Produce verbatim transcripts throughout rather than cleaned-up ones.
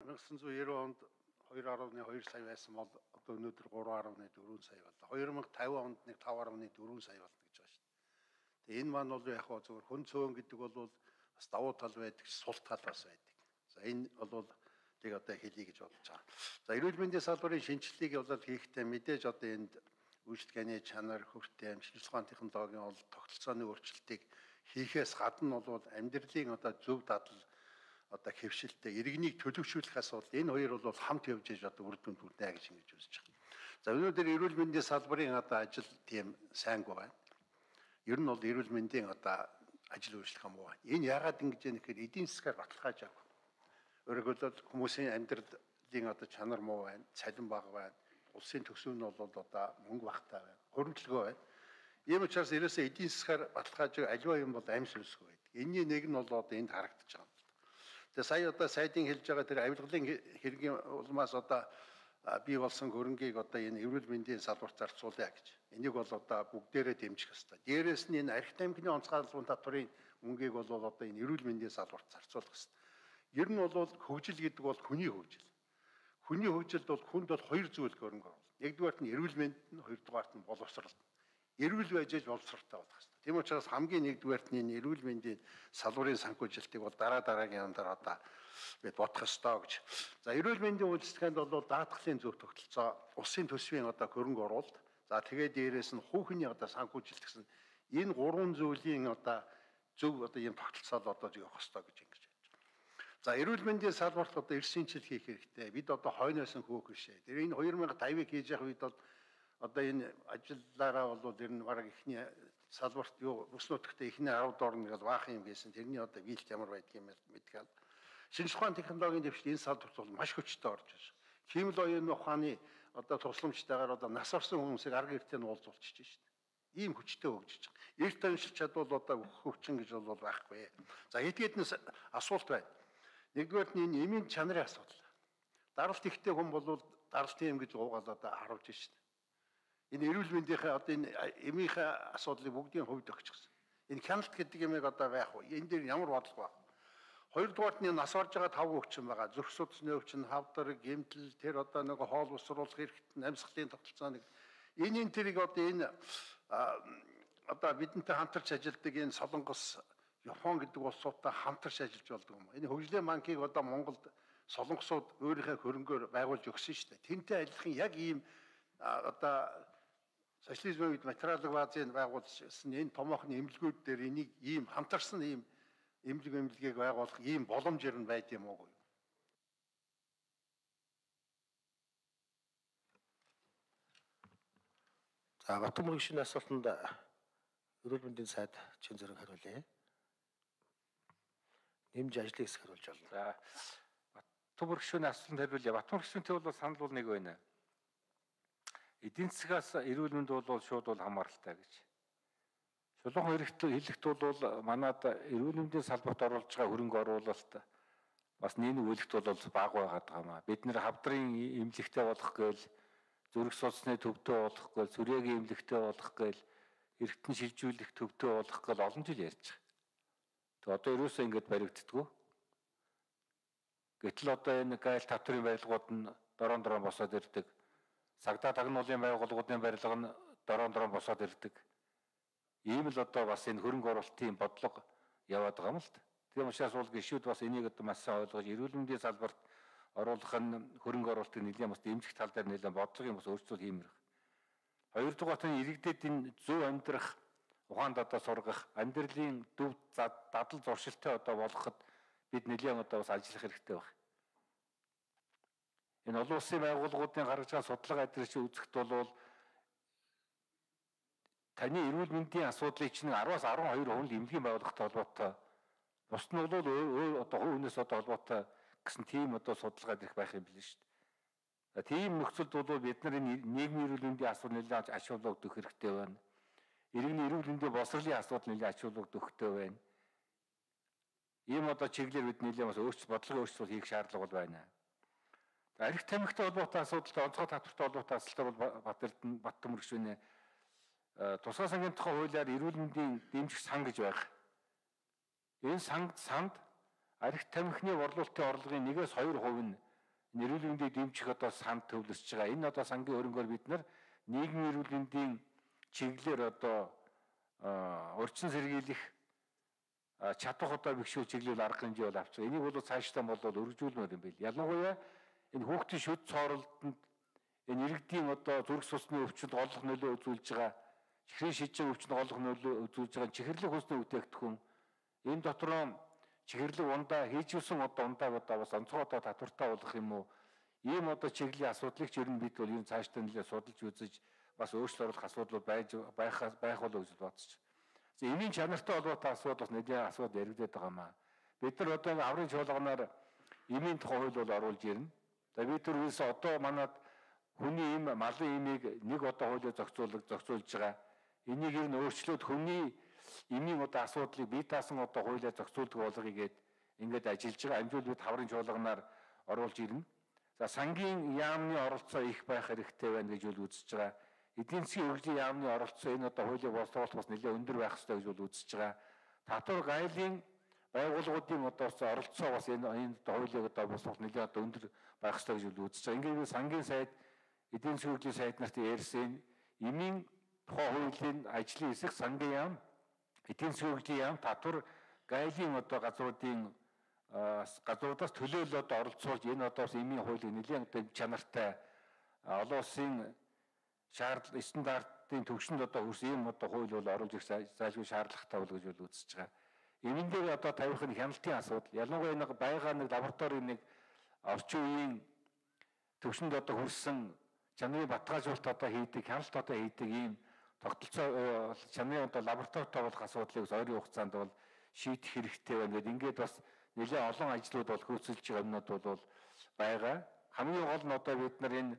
천구백구십 онд two point two сая байсан бол одоо өнөөдөр three point four сая боллоо. twenty fifty онд нэг five point four сая болно гэж байгаа шүү дээ. Тэгээ энэ маань бол яг хоо зөвхөн хүн цөөн гэдэг бол бас давуу тал байдаг, сул тал бас байдаг. За энэ бол тийг одоо хэлье гэж бодож байгаа. За эрүүл мэндийн салбарын шинжилгээг бол хийхдээ мэдээж одоо энд үйлчлэгээний чанар, хөвөртэй амжилт ухааны технологийн бол тогтолцооны өөрчлөлтийг хийхээс гадна бол амьдралын одоо зөв дадал одоо хэвшилтэй иргэнийг төлөвшүүлэхээс бол энэ хоёр бол хамт явж иж одоо үр дүнд хүрнэ гэж ингэж үзэж байна. За өнөөдөр эрүүл мэндийн салбарын одоо ажил тийм сайнгүй байна. Ер нь бол эрүүл мэндийн одоо ажил үйлчлэх юм уу? Энэ яагаад ингэж юм гэхээр эдийн засгаар баталгааж авах. Өөрөөр хэлбэл хүмүүсийн амьдралын одоо чанар муу байна, цалин бага байна, улсын төсөв нь бол одоо мөнгө багтаа байна, хуримтлага байна. Ийм учраас ерөөсөө эдийн засгаар баталгааж аливаа юм бол амь сүнсгүй байдаг. Энийний нэг нь бол одоо энд харагдаж байгаа. Тэгээ сая одоо сайдын хэлж байгаа тэр авилгалын хэргийн улмаас одоо бий болсон хөрөнгийг одоо энэ эрүүл мэндийн салбарт зарцуулъя гэж. Энийг бол одоо бүгдээрээ дэмжих ёстой. Дээрээс нь энэ архи тамхины онцгойлолтын татварын мөнгийг бол одоо энэ эрүүл мэндийн салбарт зарцуулах ёстой. Ер нь бол хөгжил гэдэг бол хүний хөгжил. Хүний хөгжилд бол хүнд бол хоёр зүйл хөрөнгө оруулна. Нэгдүгээрт нь эрүүл мэнд нь, хоёрдугаарт нь боловсрол. Эрүүл байж аж боловсролтой болох ёстой. Тийм учраас хамгийн нэгдүгээрт нь энэ эрүүл мэндийн салбарын санхүүжилтийг бол дараа дараагийн ондар одоо бид бодох ёстой гэж. За эрүүл мэндийн үйлчлэгэнд бол даатгалын зөв тогтолцоо, улсын төсвийн одоо хөрөнгө оруулалт, за тэгээд дээрээс нь хүүхний одоо санхүүжилт гэсэн энэ гурван зүйлийн одоо зөв одоо ийм тогтолцоо одоо явах ёстой гэж ингэж байна. За эрүүл мэндийн салбарт одоо эрс шинжил хийх хэрэгтэй. Бид одоо хойноос нь хөөх бишээ. Тэр энэ two thousand five-ыг хийж явах үед бол одоо энэ ажиллаараа бол ер нь бараг ихний салбарт юу бүс нутагт ихний ten доор нэг баахан юм гэсэн. Тэрний одоо биелт ямар байдгийг мэдгээл. Шинжлэх ухааны технологийн дэвшил энэ салбарт бол маш хүчтэй орж байна. Химэл оюуны ухааны одоо тусламжтайгаар одоо нас орсон хүмүүсийг арга эртээ нь уулзуулчихж байна. Ийм хүчтэй хөгжиж байгаа. Эрт оншилж чадвал одоо хөгжин гэж бол байхгүй. За эдгээднээс асуулт байна. Нэгдүгээр нь энэ эмийн чанарын асуудал. Даралт ихтэй хүн бол даралтын эм гэж уугаал одоо харуулж шин. Энэ эрүүл мэндийнхээ одоо энэ эмийнхээ асуудлыг бүгдийн хувьд өгчихсөн. Энэ хяналт гэдэг юмыг одоо байх уу? Энэ дээр ямар бодлого байна? Хоёрдугаарт нь нас орж байгаа тав өвчин байгаа. Зүрх судасны өвчин, хавдар, гэмтэл, тэр одоо нэг хоол усруулах хэрэгт амьсгалын тогтолцооны энийн тэрийг одоо энэ одоо бидэнтэй хамтарч ажилладаг энэ Солонгос, Япон гэдэг улсуудтай хамтарч ажиллаж болдог юм. Энэ хөгжлийн банкыг одоо Монголд солонгосууд өөрийнхөө хөрөнгөөр байгуулж өгсөн шүү дээ. Тэнтэй адилхан яг ийм одоо социализмын үед материалын баазыг байгуулсан энэ томоохон эмнэлгүүд дээр энийг ийм хамтарсан ийм эмнэлэг эмнэлгийг байгуулах ийм боломж ер нь байд юм уу? За Батмөргийн шинэ асуултанд эрүүл мэндийн сайд чин зэрэг хариулъя. Нэмж ажлын хэсэг хариулж байна. За Батмөргийн шинэ асуултанд хариулъя. Батмөргийн шинэтэй бол санал бол нэг байна. Эдийн засгаас эрүүл мэнд бол шууд бол хамааралтай гэж. Шулуун хэрэгт хэлэхэд бол манад эрүүл мэндийн салбарт оруулж байгаа хөрөнгө оруулалт бас нийгэм үйлдэлт бол бага байгаад байгаа маа. Бид нэр хавдрын эмнэлэгтэй болох гээл, зүрх судасны төвтэй болох гээл, сүрээгийн эмнэлэгтэй болох гээл, эргэтэн шилжүүлэх төвтэй болох гээл олон жил ярьж байгаа. Тэг одоо ерөөсөө ингэж баригддаггүй. Гэтэл одоо энэ гайл татврын барилгууд нь дорон дорон босоод ирдэг. Сагдаа тагнуулын байгууллагуудын барилга нь дорон дорон босоод ирдэг. Ийм л одоо бас энэ хөрөнгө оруулалтын бодлого яваад байгаа юм л та. Тийм учраас бол гишүүд бас энийг одоо маш сайн ойлгож эрүүл мэндийн салбарт оруулах нь хөрөнгө оруулалтыг нэлээд бас дэмжих тал дээр нэлээд бодлогын бас өөрчлөлт хиймэрх. Хоёрдугаар нь иргэдэд энэ зөв амьдрах ухаанд одоо сургах, амьдралын төв дадал зуршилтай одоо болгоход бид нэлээд одоо бас ажиллах хэрэгтэй байна. Энэ олон улсын байгууллагуудын гаргаж байгаа судлага адилш үзэхэд бол таны эрүүл мэндийн асуудлыг чинь ten-аас twelve хувь эмнэлгийн байгууллагатай холбоотой. Бус нь бол өөр одоо хувь хүнээс одоо холбоотой гэсэн тийм одоо судалгаа ирэх байх юм билээ шүү дээ. Тийм нөхцөлд бол бид нар энэ нийгмийн эрүүл мэндийн асуудал нэлээд ач холбогдох хэрэгтэй байна. Иргэний эрүүл мэндийн боловсролын асуудал нэлээд ач холбогдох хэрэгтэй байна. Ийм одоо чиглэлээр бид нэлээд бас өөрчлөлт бодлогын өөрчлөлт хийх шаардлага бол байна. Архи тамхитай холбоотой асуудалтай онцгой татвартай холбоотой асуудал бол Батэрдэн Баттмөр гишүүнээ тусгай сангийн тухай хуулиар эрүүл мэндийн дэмжих сан гэж байна. Энэ санд санд архи тамхины борлуулалтын орлогын one-ээс two хувь нь энэ эрүүл мэндийг дэмжих одоо санд төвлөрч байгаа. Энэ одоо сангийн хөрөнгөөр бид нар нийгмийн эрүүл мэндийн чиглэлээр одоо урьдчилан сэргийлэх чадвар одоо бэхжүүл чиглэл арга хэмжээ бол авч байгаа. Энийг бол цаашдаа бол өргөжүүлмээр юм байл. Ялангуяа энэ хүүхдийн шүд цооролтонд энэ иргэдийн одоо зүрх судасны өвчтөнд голлох нөлөө үзүүлж байгаа, чихрийн шижийн өвчтөнд голлох нөлөө үзүүлж байгаа чихэрлэг хүнсний бүтээгдэхүүн энэ дотроо чихэрлэг ундаа хийжүүлсэн одоо ундааг одоо бас онцгой одоо татвартай болох юм уу? Ийм одоо чиглэлийн асуудлыг ч ер нь бид бол ер нь цаашдаа нэлээд судалж үзэж бас өөрчлөлт оруулах асуудал байж байх байх болов гэж бодож. За эмийн чанартай холбоотой асуудал бас нэлээд асуудал яригдаад байгаа маа. Бид нар одоо аврын чуулганаар эмийн тухай хууль бол оруулж ирнэ. За бид нар үс одоо манад хүний эм малын эмийг нэг одоо хуулиар зохицуулах зохицуулж байгаа. Энийг ер нь өөрчлөөд хүний эмийн одоо асуудлыг бие даасан одоо хуулиар зохицуулдаг болгоё гээд ингээд ажиллаж байгаа. Амжуул бид хаврын чуулганаар оруулж ирнэ. За сангийн яамны оролцоо их байх хэрэгтэй байна гэж үл үзэж байгаа. Эдийн засгийн хөгжлийн яамны оролцоо энэ одоо хуулийн боловсруулалт бас нэлээд өндөр байх ёстой гэж үл үзэж байгаа. Татвар гайлын байгууллагуудын одоо оролцоо бас энэ энэ хуулийг одоо боловсруулалт нэлээд одоо өндөр байх ёстой гэж үл үзэж байгаа. Ингээд сангийн сайд эдийн засгийн хөгжлийн сайд нарт ярьсан эмийн тухай хуулийн ажлын хэсэг сангийн яам, эдийн засгийн хөгжлийн яам, татвар гайлын одоо газруудын газруудаас төлөөлөлд оролцуулж энэ одоо эмийн хуулийг нэлээд одоо чанартай олон улсын шаардлага стандартын төвшөнд одоо хүрс ийм одоо хууль бол оруулж ирэх зайлшгүй шаардлагатай бол гэж бол үзэж байгаа. Эмийн дээр одоо тавих нь хяналтын асуудал. Ялангуяа нэг байгаа нэг лабораторийн нэг орчин үеийн төвшөнд одоо хүрсэн чанарын баталгаажуулалт одоо хийдэг, хяналт одоо хийдэг ийм тогтолцоо чанарын одоо лабораторитой болох асуудлыг ойрын хугацаанд бол шийдэх хэрэгтэй байна гэдэг. Ингээд бас нэлээд олон ажлууд бол хөөцөлж байгаа юмнууд бол байгаа. Хамгийн гол нь одоо бид нар энэ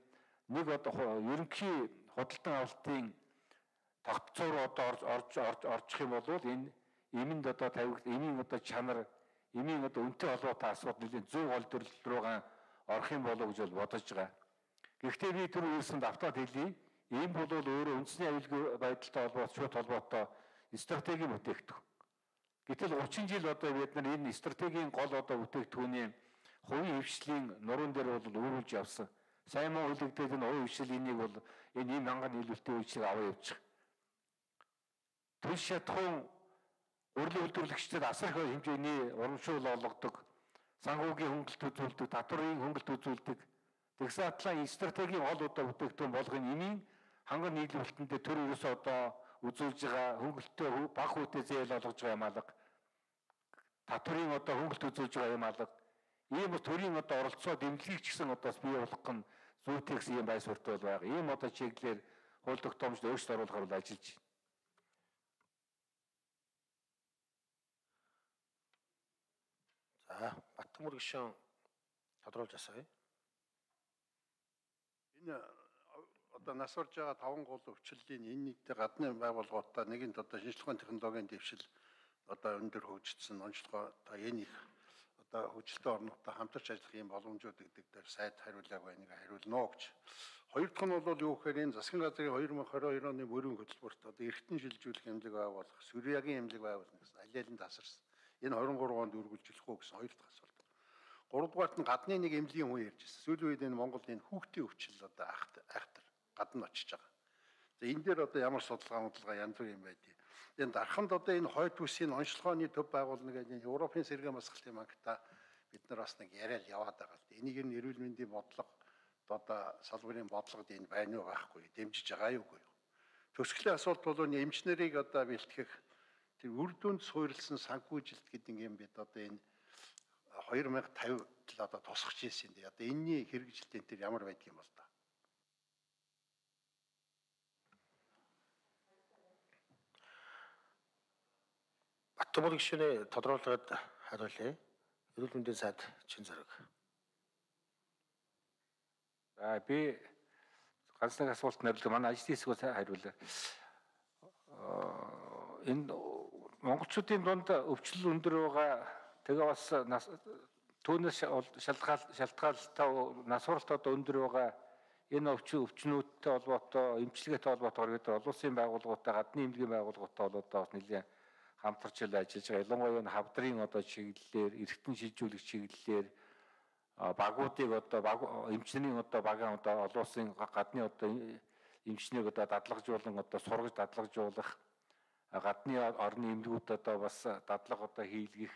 нэг одоо ерөнхий худалдан авалтын тогтцоо руу одоо орж орж орчих юм бол энэ эмэнд одоо тавигд эмийн одоо чанар, эмийн одоо үнэтэй холбоотой асуудал нэлээд зөв гол төрөл рүүгээ орох юм болов уу гэж бол бодож байгаа. Гэхдээ би түр үйлсэнд автаад хэлье. Ийм бол өөрөө үндэсний аюулгүй байдалтай холбоотой шууд холбоотой стратегийн бүтээгдэхүүн. Гэтэл гучин жил одоо бид нар энэ стратегийн гол одоо бүтээгдэхүүний хувийн хвшлийн нуруунд дээр бол өөрүүлж явсан. Сайн муу үлэгдээд энэ хувийн хвшил энийг бол энэ ийм ханган нийлүүлэлтийн үйлчлэг аваа явуучих. Түлш шатхуун урлагийн үйлдвэрлэгчдад асар их хэмжээний урамшуул олгодог, санхүүгийн хөнгөлт үзүүлдэг, татварын хөнгөлт үзүүлдэг. Тэгсэн атлаа стратегийн гол одоо бүтээгдэхүүн болгох эмийн ханган нийлүүлэлтэнд төр ерөөсөө одоо үзүүлж байгаа хөнгөлтөө баг хүүтэй зээл олгож байгаа юм алга. Татварын одоо хөнгөлт үзүүлж байгаа юм алга. Ийм төрийн одоо оролцоо дэмжлэг ч гэсэн одоо бий болгох нь зүйтэй гэсэн юм байр суурьтай бол байгаа. Ийм одоо чиглэлээр хууль тогтоомжид өөрчлөлт оруулахар бол ажиллаж байна. За, Баттамөр гишүүн тодруулж асууя. Энэ одоо нас орж байгаа таван гол өвчлөлийн энэ нийтдээ гадны байгууллагуудаа нэгэнт одоо шинжилгээний технологийн дэвшил одоо өндөр хөгжсөн онцлогоо одоо энэ их одоо хөгжилтэй орнуудтай хамтарч ажиллах юм боломжууд гэдэг дээр сайд хариулааг байныг хариулна гэж. Хоёр дахь нь бол юу гэхээр энэ засгийн газрын хоёр мянга хорин хоёр оны мөрийн хөтөлбөрт одоо эргэтэн шилжүүлэх хэмжээг байгуулах, Сүрьягийн хэмжээг байгуулах гэсэн алиалын тасарсан. Энэ двадцать три онд үргэлжлэх үү гэсэн хоёр дахь асуулт. Гуравдугаарт нь гадны нэг эмнэлгийн хүн ярьж байсан. Сүүлийн үед энэ Монголд энэ хүүхдийн өвчл одоо айхтар айхтар гадна очиж байгаа. За энэ дээр одоо ямар судалгаа модлага янз бүр юм байдгийг. Энэ дарханд одоо энэ хойд үсгийн онцлогооны төв байгуулна гэдэг энэ Европын сэргээн масгалын банкта бид нар бас нэг яриад яваад байгаа л дээ. Энийг ер нь эрүүл мэндийн бодлого одоо салбарын бодлогод энэ байна уу байхгүй дэмжиж байгаа юу үгүй юу. Төсгөлийн асуулт бол энэ эмчнэрийг одоо бэлтгэх тэр үр дүнд суурилсан санхүүжилт гэдэг юм бид одоо энэ хоёр мянга тавид л одоо тусгаж ирсэн дээ. Одоо энэний хэрэгжилт энэ төр ямар байдг юм бол та. Баттамөр гишүүний тодруулгад хариулъя. Эрүүл мэндийн сайд Чин Зориг. За би ганц нэг асуулт нэрлэг манай ажлын хэсгээс хариулъя. Энэ монголчуудын дунд өвчлөл өндөр байгаа. Тэгээ бас түүнээс шалтгаал шалтгаалтай нас уралт одоо өндөр байгаа. Энэ өвчин өвчнүүдтэй холбоотой, эмчилгээтэй холбоотойгоор гэдэг олон улсын байгууллагуудтай, гадны эмнэлгийн байгууллагуудтай бол одоо бас нэлээд хамтарч ажиллаж байгаа. Ялангуяа энэ хавдрын одоо чиглэлээр, эргэтэн шилжүүлэх чиглэлээр багуудыг одоо баг эмчнэрийн одоо багаан одоо олон улсын гадны одоо эмчнийг одоо дадлагжуулан одоо сургаж дадлагжуулах гадны орны эмнэлгүүд одоо бас дадлага одоо хийлгэх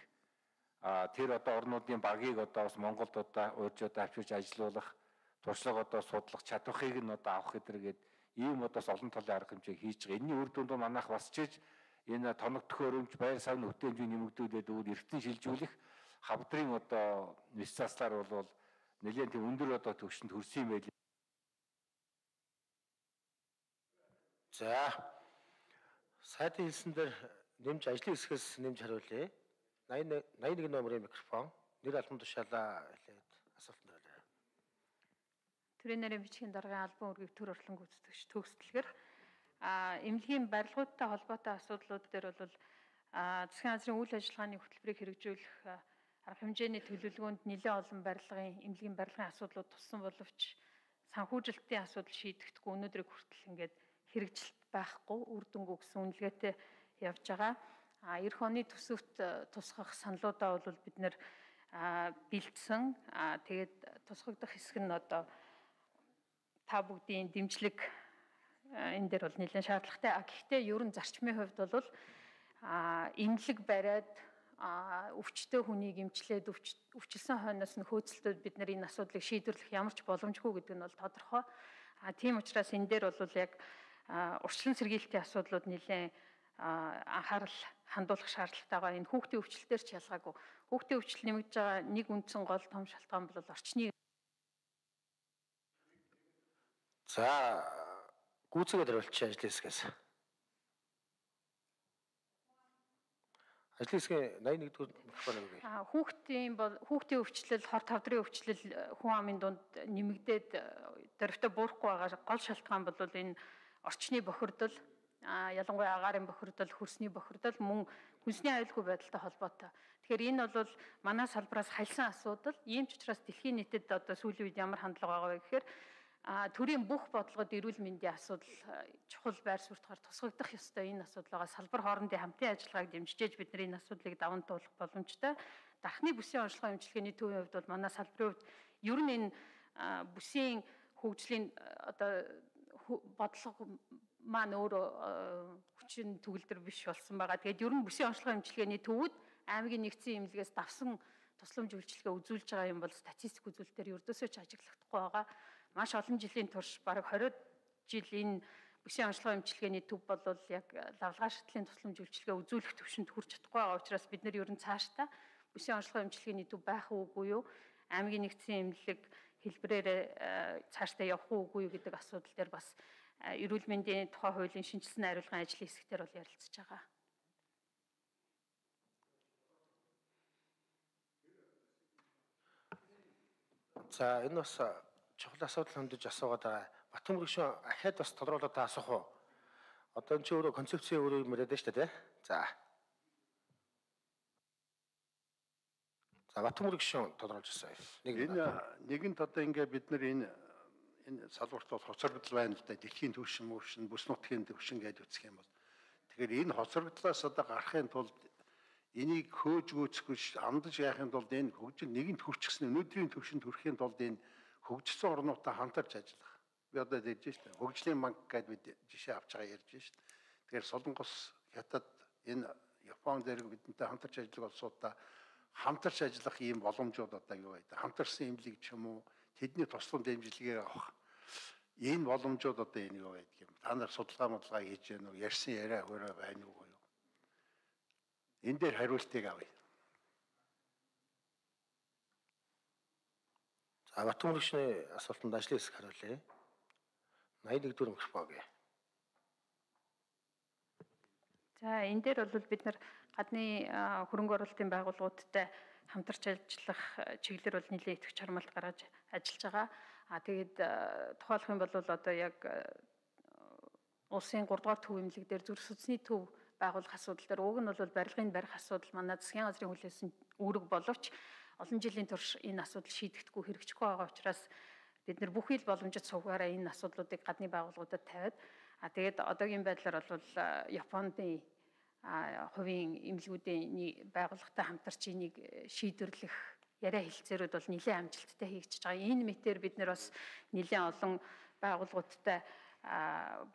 тэр одоо орнуудын багийг одоо бас Монголд одоо уурж одоо авчирч ажилуулах туршлага одоо судлах чадварыг нь одоо авах гэдэргээд ийм одоо олон талын арга хэмжээ хийж байгаа. Энэний үр дүнд манайх бас ч энэ тоног төхөөрөмж байр савны хөтөлбөрийн нэмэгдүүлээд өгөөд эртэн шилжүүлэх хавдрын одоо нис заслаар бол нэлээд тийм өндөр одоо төвшөнд хүрсэн юм байл. За сайдын хэлсэн дээр нэмж ажлын хэсгээс нэмж хариулъя. восемьдесят один номерын микрофон нэр албан тушаалаа хэлээд асуултанд хариулъя. Төрийн нарийн бичгийн даргын албан үүргийг төр орлон гүйцэтгэгч төгсдөлгөр а эмнэлгийн барилгуудтай холбоотой асуудлууд дээр бол засгийн газрын үйл ажиллагааны хөтөлбөрийг хэрэгжүүлэх арга хэмжээний төлөвлөгөөнд нэлээд олон барилгын эмнэлгийн барилгын асуудлууд туссан боловч санхүүжилтийн асуудал шийдэгдэхгүй өнөөдрийг хүртэл ингээд хэрэгжилт байхгүй үр дүнгүй гэсэн үнэлгээтэй явж байгаа. А эх оны төсөвт тусгах саналуудаа бол бид нэр бэлдсэн. А тэгээд тусгагдах хэсэг нь одоо та бүгдийн дэмжлэг энэ дээр бол нэлээд шаардлагатай. А гэхдээ ерөн зарчмын хувьд бол эмнэлэг бариад өвчтөе хүнийг эмчлээд өвчлсөн хойноос нь хөөцөлтөд бид нар энэ асуудлыг шийдвэрлэх ямар ч боломжгүй гэдэг нь бол тодорхой. А тийм учраас энэ дээр бол яг урьдчилан сэргийлтийн асуудлууд нэлээд анхаарал хандуулах шаардлагатай байгаа. Энэ хүүхдийн өвчлөлтөөр ч ялгаагүй. Хүүхдийн өвчлөл нэмэгдэж байгаа нэг үндсэн гол том шалтгаан бол орчны. За гүйцэтгэл хариулчих ажлын хэсгээс. Ажлын хэсгийн восемьдесят один дугаар микрофон өгье. А хүүхдийн бол хүүхдийн өвчлөл, хор тавдрын өвчлөл хүн амын дунд нэмэгдээд дөрвтө буурахгүй байгаа гол шалтгаан бол энэ орчны бохирдол, ялангуяа агаарын бохирдол, хөрсний бохирдол, мөн хүнсний аюулгүй байдалтай холбоотой. Тэгэхээр энэ бол манай салбараас хальсан асуудал. Ийм ч учраас дэлхийн нийтэд одоо сүүлийн үед ямар хандлага байгаа вэ гэхээр төрийн бүх бодлогод эрүүл мэндийн асуудал чухал байр суурьтаар тусгагдах ёстой энэ асуудал байгаа. Салбар хоорондын хамтын ажиллагааг дэмжиж бид нар энэ асуудлыг даван туулах боломжтой. Дахны бүсийн онцлогоо эмчилгээний төвийн хувьд бол манай салбарын хувьд ер нь энэ бүсийн хөгжлийн одоо бодлого маань өөрөө хүчин төгөлдөр биш болсон байгаа. Тэгээд ер нь бүсийн онцлогоо эмчилгээний төвүүд аймгийн нэгдсэн эмнэлгээс давсан тусламж үйлчилгээ үзүүлж байгаа юм бол статистик үзүүлэлтээр ердөөсөө ч ажиглагдахгүй байгаа. Маш олон жилийн турш бараг двадцать жил энэ бүсийн онцлогоо эмчилгээний төв бол яг лавлгаа шатлалын тусламж үйлчилгээ үзүүлэх төвшөнд хүрч чадахгүй байгаа учраас бид нар ер нь цаашдаа бүсийн онцлогоо эмчилгээний төв байх уугүй юу, аймгийн нэгдсэн эмнэлэг хэлбэрээр цаашдаа явах уугүй юу гэдэг асуудал дээр бас эрүүл мэндийн тухай хуулийн шинжилсэн хариулгын ажлын хэсгээр бол ярилцж байгаа. За энэ бас чухал асуудал хандаж асуугаад байгаа. Батхан мөрөгшин ахаад бас тодруулаад асуух уу? Одоо энэ ч өөрөө концепцийн өөрөө юм яриад шүү дээ, тий? За. За Батхан мөрөгшин тодруулж ирсэн. Энэ нэгэнт одоо ингээ бид нар энэ энэ салбарт бол хоцрогдол байна л да. Дэлхийн түвшин мөвшин, бүс нутгийн түвшин гэж үзэх юм бол. Тэгэхээр энэ хоцрогдлоос одоо гарахын тулд энийг хөөж гүйцэхгүй амдаж яахын тулд энэ хөгжил нэгэнт хүрчихсэн өнөөдрийн түвшинд хүрэхин тулд энэ хөгжсөн орнуудаа хамтарч ажиллах. Би одоо ярьж штэ. Хөгжлийн банк гэдээ бид жишээ авч байгаа ярьж штэ. Тэгэхээр Солонгос, Хятад, энэ Япон зэрэг бидэнтэй хамтарч ажиллах улсуудаа хамтарч ажиллах ийм боломжууд одоо юу байдаг. Хамтарсан эмнэлэг ч юм уу тэдний туслан дэмжлэгээ авах. Энэ боломжууд одоо энэ юу байдаг юм. Та нар судалгаа модлага хийж гэнэ үү? Ярьсан яриа хөрөө байна уу? Энэ дээр хариултыг авъя. За Батхан мөрөгшний асуултанд ажлын хэсэг хариулъя. восемьдесят один дугаар микрофон өгье. За энэ дээр бол бид нар гадны хөрөнгө оруулалтын байгууллагуудтай хамтарч ажиллах чиглэлээр бол нэлээд итгэж хармалт гаргаж ажиллаж байгаа. А тэгээд тухайлах юм бол одоо яг улсын гурав дахь төв эмнэлэг дээр зүрх судасны төв байгуулах асуудал дээр уг нь бол барилгын барих асуудал манай засгийн газрын хүлээсэн үүрэг боловч олон жилийн турш энэ асуудал шийдэгдэхгүй хэрэгжихгүй байгаа учраас бид нар бүхий л боломжит сувгаараа энэ асуудлуудыг гадны байгууллагуудад тавиад а тэгээд одоогийн байдлаар бол Японы хувийн эмнэлгүүдийн байгууллагатай хамтарч энийг шийдвэрлэх яриа хэлцээрүүд бол нэлээд амжилттай хийгдэж байгаа. Энэ мэтээр бид нэр бас нэлээд олон байгууллагуудтай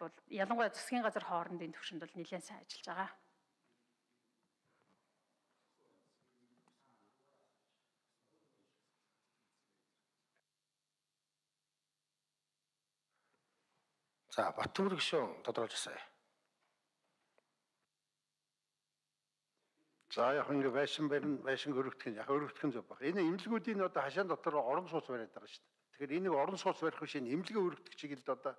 бол ялангуяа засгийн газар хоорондын түвшинд бол нэлээд сайн ажиллаж байгаа. За Баттүмэр гишүүн тодорхойлж асаая. За яг ингээ байшин барин байшин өргөдөх нь яг өргөдөх нь зөв баг. Энэ эмнэлгүүдийн одоо хашаан дотор орон сууц бариад байгаа шүү дээ. Тэгэхээр энийг орон сууц барих биш энэ эмнэлгээ өргөдөх чиглэлд одоо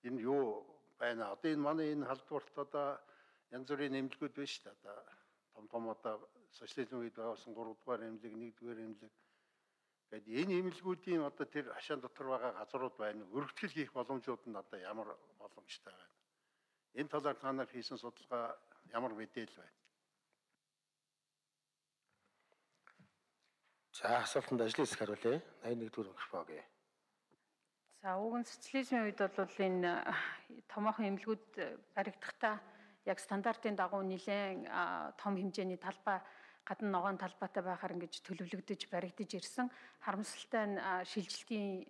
энэ юу байна. Одоо энэ манай энэ халдварт одоо янз бүрийн эмнэлгүүд байна шүү дээ. Одоо том том одоо социализм үед байгуулсан гурав дугаар эмнэлэг, нэг дугаар эмнэлэг. Гэвь энэ эмнэлгүүдийн одоо тэр хашаан дотор байгаа газрууд байна. Өргөдгөл хийх боломжууд нь одоо ямар боломжтой байна. Энэ талаар та нар хийсэн судалгаа ямар мэдээлэл байна? За асуултанд ажлын хэсэг хариулъя. найны нэгдүгээр микрофон гээ. За ууган социализмын үед бол энэ томоохон эмнэлгүүд баригдахдаа яг стандартын дагуу нэлээд том хэмжээний талбай гадна ногоон талбайтай байхаар ингэж төлөвлөгдөж баригдаж ирсэн. Харамсалтай нь шилжилтийн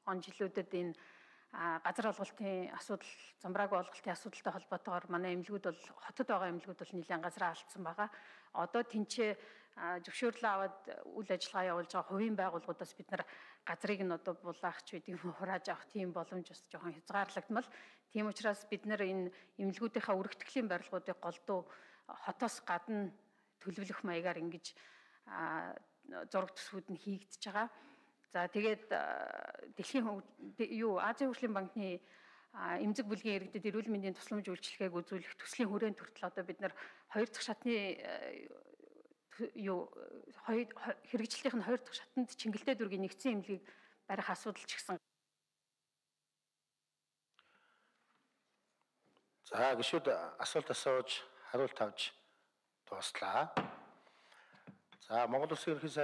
он жилүүдэд энэ газар олголтын асуудал, замбраагүй олголтын асуудалтай холбоотойгоор манай эмнэлгүүд бол хотод байгаа эмнэлгүүд бол нэлээд газраа алдсан байгаа. Одоо тэнцээ зөвшөөрлөө аваад үйл ажиллагаа явуулж байгаа хувийн байгууллагуудаас бид нар газрыг нь одоо булаах ч гэдэг юм хурааж авах тийм боломж бас жоохон хязгаарлагдмал. Тийм учраас бид нар энэ эмнэлгүүдийнхаа өргөтгөлийн барилгуудыг голдуу хотоос гадна төлөвлөх маягаар ингэж зураг төсвүүд нь хийгдэж байгаа. За тэгээд дэлхийн юу Азийн хөгжлийн банкны эмзэг бүлгийн иргэдэд эрүүл мэндийн тусламж үйлчилгээг үзүүлэх төслийн хүрээнд хүртэл одоо бид нар хоёр дахь шатны юу хэрэгжлийнх нь хоёр дахь шатанд Чингэлтэй дүүргийн нэгдсэн эмнэлгийг барих асуудал ч гэсэн. За гишүүд асуулт асууж хариулт авч дуслаа. За Монгол Улсын ерөнхий сайд